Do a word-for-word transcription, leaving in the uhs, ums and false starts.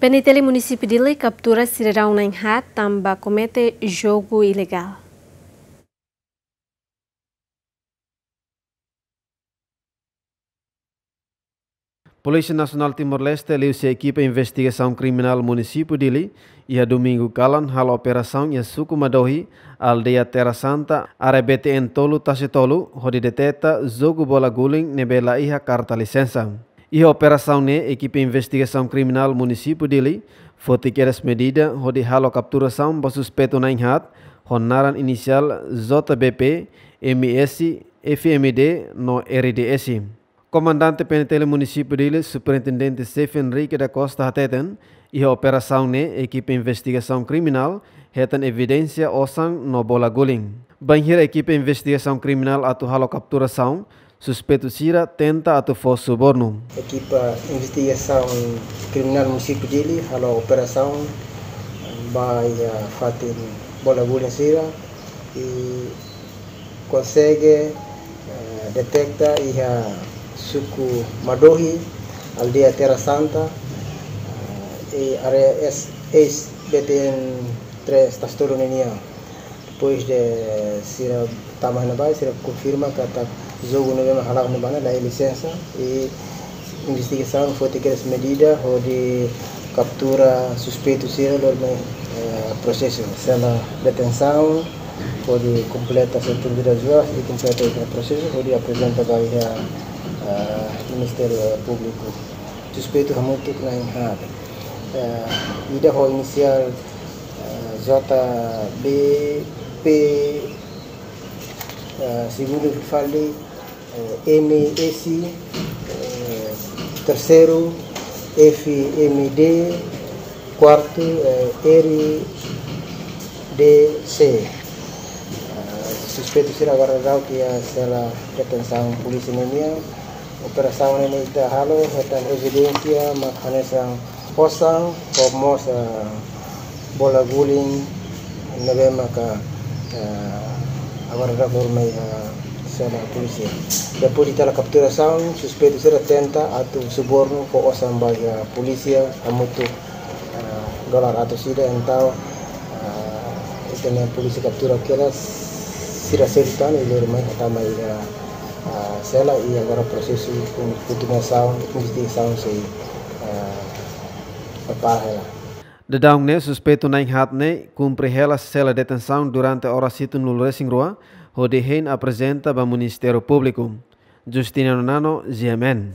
PNTL Munisípiu Dili kaptura sidadaun na'in-haat tanba komete jogu ilegál. Polísia Nasionál Timor-Leste liuhusi ekipa investigasaun kriminál Munisípiu Dili, iha Domingu kalan halo operasaun iha suku Madohi, aldeia Terra Santa, área B T N tolu Tasi Tolu, hodi deteta jogu bola guling ne'ebé la iha karta lisensa. Iha operasaun ne'e, ekipa investigasaun kriminál Munisípiu Dili foti kedas medida hodi halo kapturasaun ba suspeitu na'in-haat ho naran inisiál J B P, M S, F M D no R D S. Komandante PNTL Munisípiu Dili, Superintendente Xefe Henrique da Costa hateten, iha operasaun ne'e ekipa investigasaun kriminál hetan evidénsia osan no bola guling. Bainhira ekipa investigasaun kriminál atu halo kapturasaun, suspeitu sira tenta atu fó subornu. Ekipa investigasaun kriminál Munisípiu Dili halo operasaun ba iha fatin bola guling sira i konsege, eh, deteta iha suku Madohi, aldeia Terra Santa, eh, i área S, eis B T N três Tasi Tolu nian. Depois de sira tama iha ne'ebá, sira konfirma katak jogu ne'ebé mak hala'o iha ne'ebá ne'e la iha lisensa i investigasaun foti kedas medida hodi kaptura suspeitu sira lori mai, eh, prosesu sela detensaun hodi kompleta setenta e dois horas i kompleta o prosesu hodi aprezenta ba iha, eh, Ministériu Públiku. Suspeitu hamutuk na'in-haat. Eh, ida ho inisiál, eh, J B P, eh, segundu fali, eh, M S, eh, terseiru F M D, kuartu, eh, R D C. Eh, suspeitu sira agora daudaun iha sela detensaun polísia nian. Operasaun ne'e ita halo hetan evidénsia mak hanesan osan ho mós, eh, bola guling ne'ebé maka, eh, agora daudaun lori mai, eh, sela polísia. Depois de tala kapturasaun, suspeitu sira tenta atu subornu fó osan ba iha polísia hamutuk, eh, dolar atus ida, entaun, eh, ita-nia polísia kaptura kedas sira seluk tan i lori mai tama iha, eh, sela i agora prosesu kon-, kontinuasaun investigasaun sei, eh, prepara hela. Daudaun ne'e suspeitu na'in-haat ne'e kumpre hela sela detensaun durante oras hitunulu-resin-rua, hodi hein aprezenta ba Ministériu Públiku. Justiniano Nano, G M N.